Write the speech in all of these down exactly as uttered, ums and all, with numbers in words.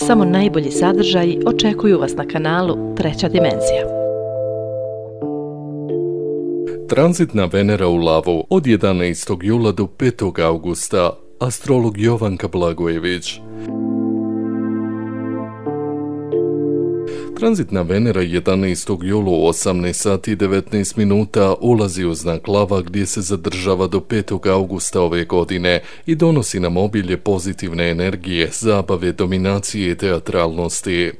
Samo najbolji sadržaji očekuju vas na kanalu Treća dimenzija. Tranzitna Venera u Lavu od jedanaestog jula do petog augusta. Astrolog Jovanka Blagojević. Tranzitna Venera jedanaestog jula u osamnaest sati i devetnaest minuta ulazi u znak Lava gdje se zadržava do petog augusta ove godine i donosi nam obilje pozitivne energije, zabave, dominacije i teatralnosti.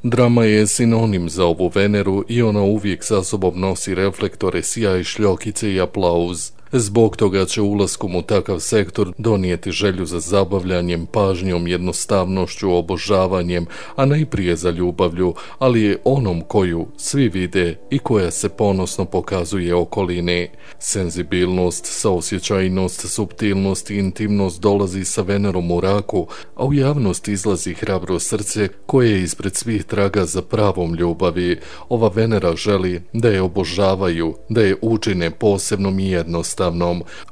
Drama je sinonim za ovu Veneru i ona uvijek sa sobom nosi reflektore, sjaj, šljokice i aplauz. Zbog toga će ulaskom u takav sektor donijeti želju za zabavljanjem, pažnjom, jednostavnošću, obožavanjem, a najprije za ljubavlju, ali je onom koju svi vide i koja se ponosno pokazuje okolini. Senzibilnost, saosjećajnost, suptilnost i intimnost dolazi sa Venerom u Raku, a u javnost izlazi hrabro srce koje ispred svih traga za pravom ljubavi. Ova Venera želi da je obožavaju, da je učine posebnom i jednostavnom.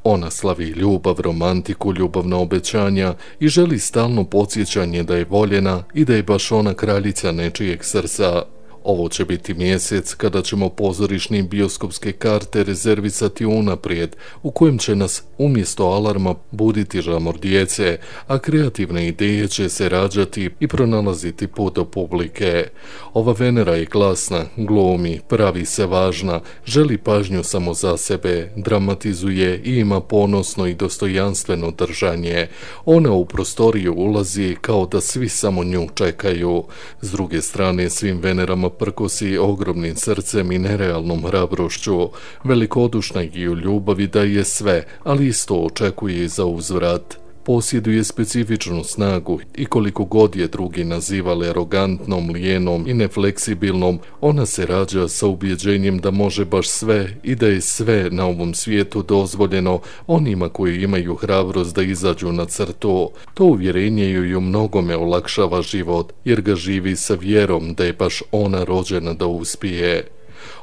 Ona slavi ljubav, romantiku, ljubavna obećanja i želi stalno podsjećanje da je voljena i da je baš ona kraljica nečijeg srca. Ovo će biti mjesec kada ćemo pozorišne i bioskopske karte rezervisati unaprijed, u kojem će nas umjesto alarma buditi žamor djece, a kreativne ideje će se rađati i pronalaziti put do publike. Ova Venera je glasna, glumi, pravi se važna, želi pažnju samo za sebe, dramatizuje i ima ponosno i dostojanstveno držanje. Ona u prostoriju ulazi kao da svi samo nju čekaju. S druge strane, svim Venerama prkosi ogromnim srcem i nerealnom hrabrošću. Velikodušna i u ljubavi daje sve, ali isto očekuje i za uzvrat. Posjeduje specifičnu snagu i koliko god je drugi nazivali arogantnom, lijenom i nefleksibilnom, ona se rađa sa ubjeđenjem da može baš sve i da je sve na ovom svijetu dozvoljeno onima koji imaju hrabrost da izađu na crtu. To uvjerenje ju u mnogome olakšava život, jer ga živi sa vjerom da je baš ona rođena da uspije.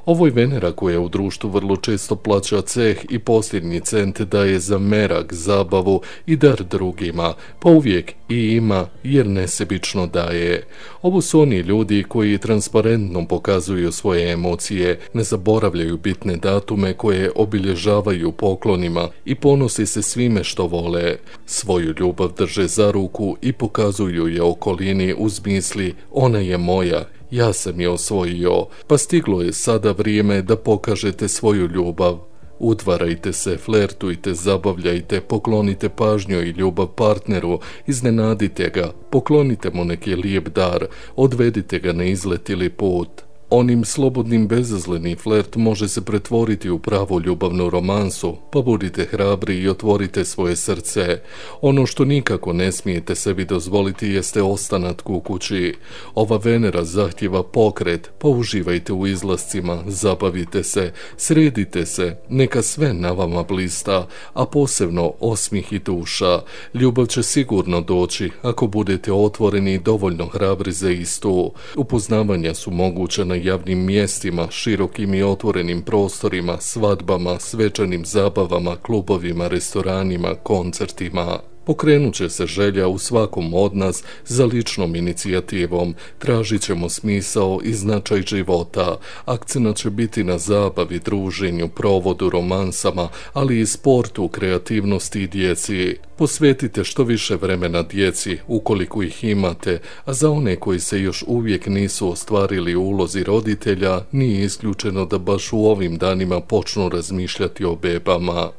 Ovo je Venera koja u društvu vrlo često plaća ceh i posljednji cent daje za merak, zabavu i dar drugima, pa uvijek i ima jer nesebično daje. Ovo su oni ljudi koji transparentno pokazuju svoje emocije, ne zaboravljaju bitne datume koje obilježavaju poklonima i ponosi se svime što vole. Svoju ljubav drže za ruku i pokazuju je okolini uz misli ona je moja. Ja sam je osvojio, pa stiglo je sada vrijeme da pokažete svoju ljubav. Udvarajte se, flertujte, zabavljajte, poklonite pažnju i ljubav partneru, iznenadite ga, poklonite mu neki lijep dar, odvedite ga na izlet ili put. Onim slobodnim bezazleni flert može se pretvoriti u pravu ljubavnu romansu, pa budite hrabri i otvorite svoje srce. Ono što nikako ne smijete sebi dozvoliti jeste ostanak u kući. Ova Venera zahtjeva pokret, pa uživajte u izlascima, zabavite se, sredite se, neka sve na vama blista, a posebno osmih i duša. Ljubav će sigurno doći ako budete otvoreni i dovoljno hrabri za istu. Upoznavanja su moguća na javnim mjestima, širokim i otvorenim prostorima, svadbama, svečanim zabavama, klubovima, restoranima, koncertima. Pokrenut će se želja u svakom od nas za ličnom inicijativom, tražit ćemo smisao i značaj života, akcenat će biti na zabavi, druženju, provodu, romansama, ali i sportu, kreativnosti i djeci. Posvetite što više vremena djeci, ukoliko ih imate, a za one koji se još uvijek nisu ostvarili u ulozi roditelja, nije isključeno da baš u ovim danima počnu razmišljati o bebama.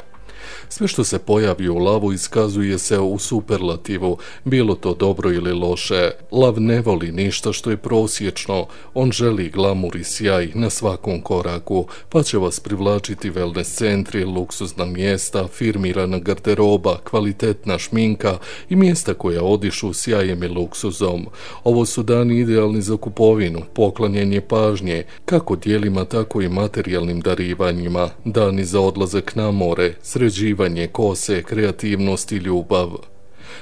Sve što se pojavi u Lavu iskazuje se u superlativu, bilo to dobro ili loše. Lav ne voli ništa što je prosječno, on želi glamur i sjaj na svakom koraku, pa će vas privlačiti wellness centri, luksuzna mjesta, firmirana garderoba, kvalitetna šminka i mjesta koja odišu sjajem i luksuzom. Ovo su dani idealni za kupovinu, poklanjanje pažnje, kako djelima tako i materijalnim darivanjima, dani za odlazak na more, sređivanje kose, kreativnost i ljubav.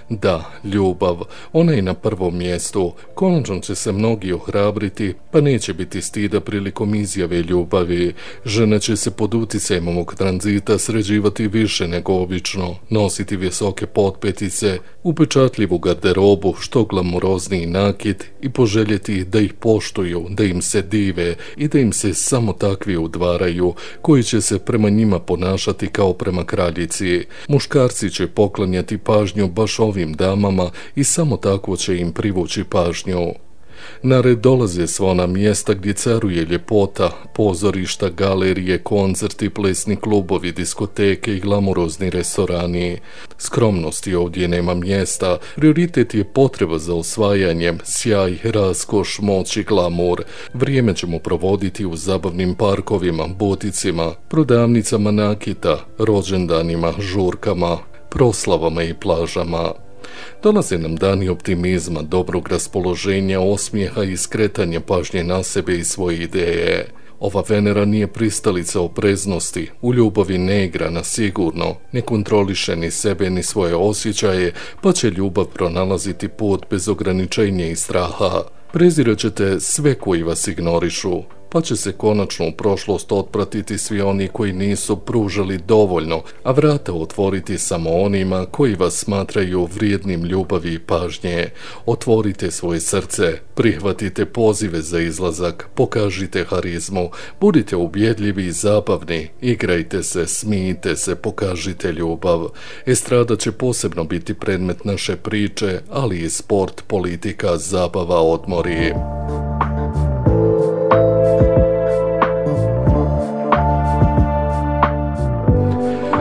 Da, ljubav, ona je na prvom mjestu. Konačno će se mnogi ohrabriti, pa neće biti stida prilikom izjave ljubavi. Žena će se pod utjecajem ovog tranzita sređivati više nego obično, nositi visoke potpetice, upečatljivu garderobu, što glamurozniji nakit i poželjeti da ih poštuju, da im se dive i da im se samo takvi udvaraju, koji će se prema njima ponašati kao prema kraljici. Muškarci će poklanjati pažnju baš ovim damama i samo tako će im privući pažnju. Na red dolaze sva ona mjesta gdje caruje ljepota, pozorišta, galerije, koncerti, plesni klubovi, diskoteke i glamurozni restorani. Skromnosti ovdje nema mjesta, prioritet je potreba za osvajanjem, sjaj, raskoš, moć i glamur. Vrijeme ćemo provoditi u zabavnim parkovima, buticima, prodavnicama nakita, rođendanima, žurkama, proslavama i plažama. Dolaze nam dani optimizma, dobrog raspoloženja, osmijeha i skretanja pažnje na sebe i svoje ideje. Ova Venera nije pristalica opreznosti, u ljubavi ne igra na sigurno, ne kontroliše ni sebe ni svoje osjećaje, pa će ljubav pronalaziti put bez ograničenja i straha. Prezirat ćete sve koji vas ignorišu, pa će se konačno u prošlost otpratiti svi oni koji nisu pružali dovoljno, a vrata otvoriti samo onima koji vas smatraju vrijednim ljubavi i pažnje. Otvorite svoje srce, prihvatite pozive za izlazak, pokažite harizmu, budite ubjedljivi i zabavni, igrajte se, smijte se, pokažite ljubav. Estrada će posebno biti predmet naše priče, ali i sport, politika, zabava, odmori.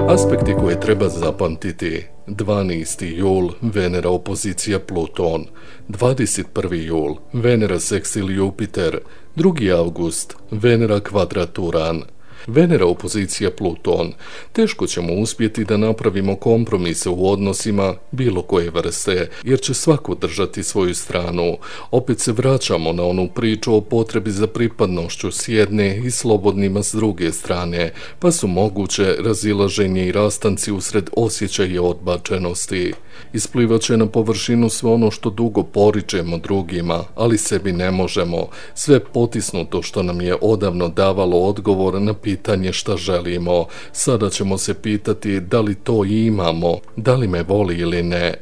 Aspekti koje treba zapamtiti: dvanaesti jul, Venera opozicija Pluton, dvadeset prvi jul, Venera seksil Jupiter, drugi avgust, Venera kvadrat Uran. Venera opozicija Pluton. Teško ćemo uspjeti da napravimo kompromise u odnosima bilo koje vrste, jer će svako držati svoju stranu. Opet se vraćamo na onu priču o potrebi za pripadnošću s jedne i slobodnima s druge strane, pa su moguće razilaženje i rastanci usred osjećaja odbačenosti. Isplivat će na površinu sve ono što dugo poričemo drugima, ali sebi ne možemo, sve potisnuto što nam je odavno davalo odgovor na pitanje šta želimo. Sada ćemo se pitati da li to imamo, da li me voli ili ne.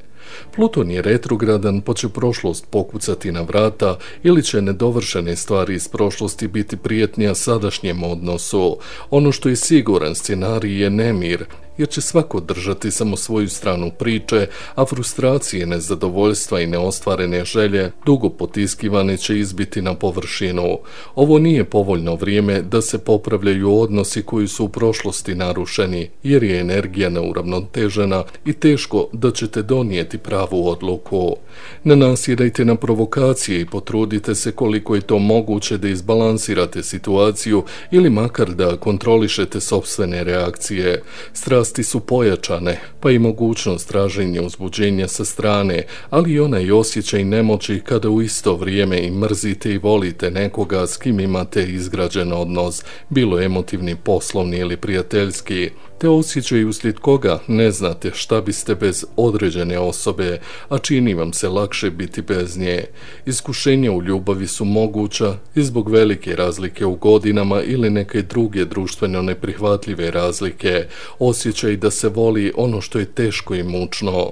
Pluton je retrogradan, pa će prošlost pokucati na vrata ili će nedovršene stvari iz prošlosti biti prijetnija sadašnjem odnosu. Ono što je siguran scenarij je nemir, jer će svako držati samo svoju stranu priče, a frustracije, nezadovoljstva i neostvarene želje, dugo potiskivane, će izbiti na površinu. Ovo nije povoljno vrijeme da se popravljaju odnosi koji su u prošlosti narušeni, jer je energija neuravnotežena i teško da ćete donijeti pravu odluku. Ne nasjedajte na provokacije i potrudite se koliko je to moguće da izbalansirate situaciju ili makar da kontrolišete sopstvene reakcije. Strasti su pojačane, pa i mogućnost traženja uzbuđenja sa strane, ali i onaj osjećaj nemoći kada u isto vrijeme i mrzite i volite nekoga s kim imate izgrađen odnos, bilo emotivni, poslovni ili prijateljski. Te osjećaj uslijed koga ne znate šta biste bez određene osobe, a čini vam se lakše biti bez nje. Iskušenja u ljubavi su moguća i zbog velike razlike u godinama ili neke druge društveno neprihvatljive razlike, osjećaj da se voli ono što je teško i mučno.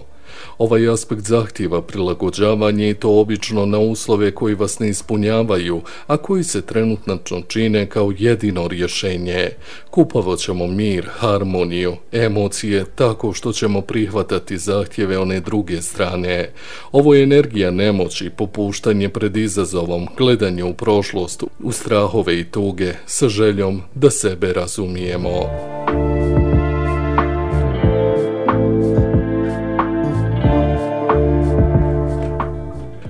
Ovaj aspekt zahtijeva prilagođavanje i to obično na uslove koji vas ne ispunjavaju, a koji se trenutno čine kao jedino rješenje. Kupavat ćemo mir, harmoniju, emocije tako što ćemo prihvatati zahtjeve one druge strane. Ovo je energija nemoći, popuštanje pred izazovom, gledanje u prošlost, u strahove i tuge, sa željom da sebe razumijemo.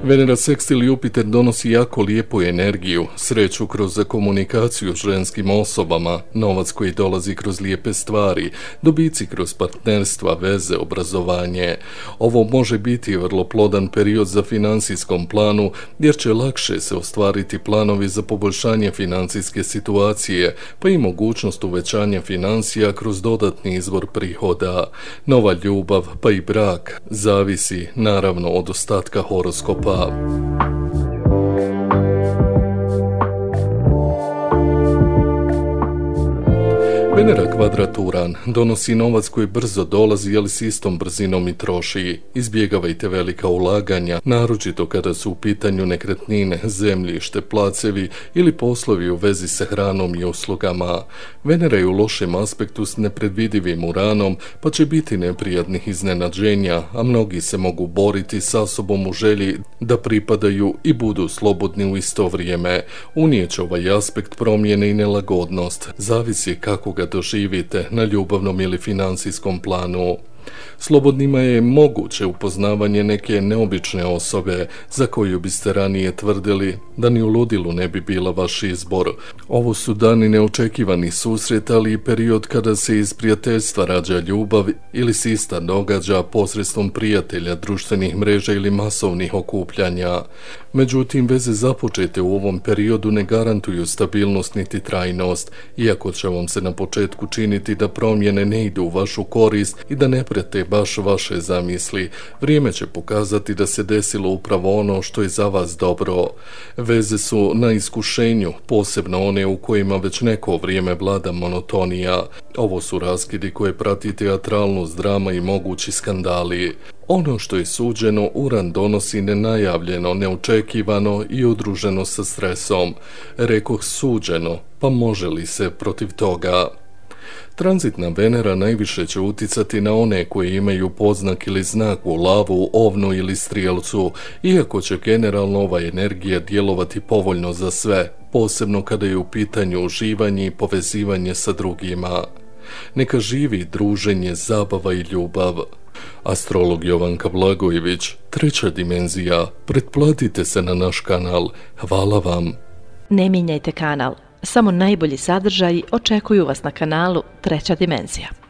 Venera sekstil Jupiter donosi jako lijepu energiju, sreću kroz komunikaciju s ženskim osobama, novac koji dolazi kroz lijepe stvari, dobici kroz partnerstva, veze, obrazovanje. Ovo može biti vrlo plodan period za financijskom planu, jer će lakše se ostvariti planovi za poboljšanje financijske situacije, pa i mogućnost uvećanja financija kroz dodatni izvor prihoda. Nova ljubav, pa i brak, zavisi naravno od ostatka horoskopa. Venera kvadrat Uran donosi novac koji brzo dolazi, ali s istom brzinom i troši. Izbjegavajte velika ulaganja, naročito kada su u pitanju nekretnine, zemljište, placevi ili poslovi u vezi sa hranom i uslugama. Venera je u lošem aspektu s nepredvidivim Uranom, pa će biti neprijatnih iznenađenja, a mnogi se mogu boriti sa sobom u želji da pripadaju i budu slobodni u isto vrijeme. Unijeće ovaj aspekt promjene i nelagodnost, zavisi kako ga doživite na ljubavnom ili financijskom planu. Slobodnima je moguće upoznavanje neke neobične osobe za koju biste ranije tvrdili da ni u ludilu ne bi bila vaš izbor. Ovo su dani neočekivani susret, ali i period kada se iz prijateljstva rađa ljubav ili se ista događa posredstvom prijatelja, društvenih mreža ili masovnih okupljanja. Međutim, veze započete u ovom periodu ne garantuju stabilnost niti trajnost, iako će vam se na početku činiti da promjene ne idu u vašu korist i da ne prete baš vaše zamisli. Vrijeme će pokazati da se desilo upravo ono što je za vas dobro. Veze su na iskušenju, posebno one u kojima već neko vrijeme vlada monotonija. Ovo su raskidi koje prati teatralnost, drama i mogući skandali. Ono što je suđeno, Uran donosi nenajavljeno, neočekivano i udruženo sa stresom. Rekoh suđeno, pa može li se protiv toga? Tranzitna Venera najviše će uticati na one koji imaju poznak ili znak u lavu, ovnu ili strijelcu, iako će generalno ova energija djelovati povoljno za sve, posebno kada je u pitanju uživanje i povezivanje sa drugima. Neka živi druženje, zabava i ljubav. Astrolog Jovanka Blagojević, treća dimenzija. Pretplatite se na naš kanal. Hvala vam. Ne mijenjajte kanal. Samo najbolji sadržaji očekuju vas na kanalu Treća dimenzija.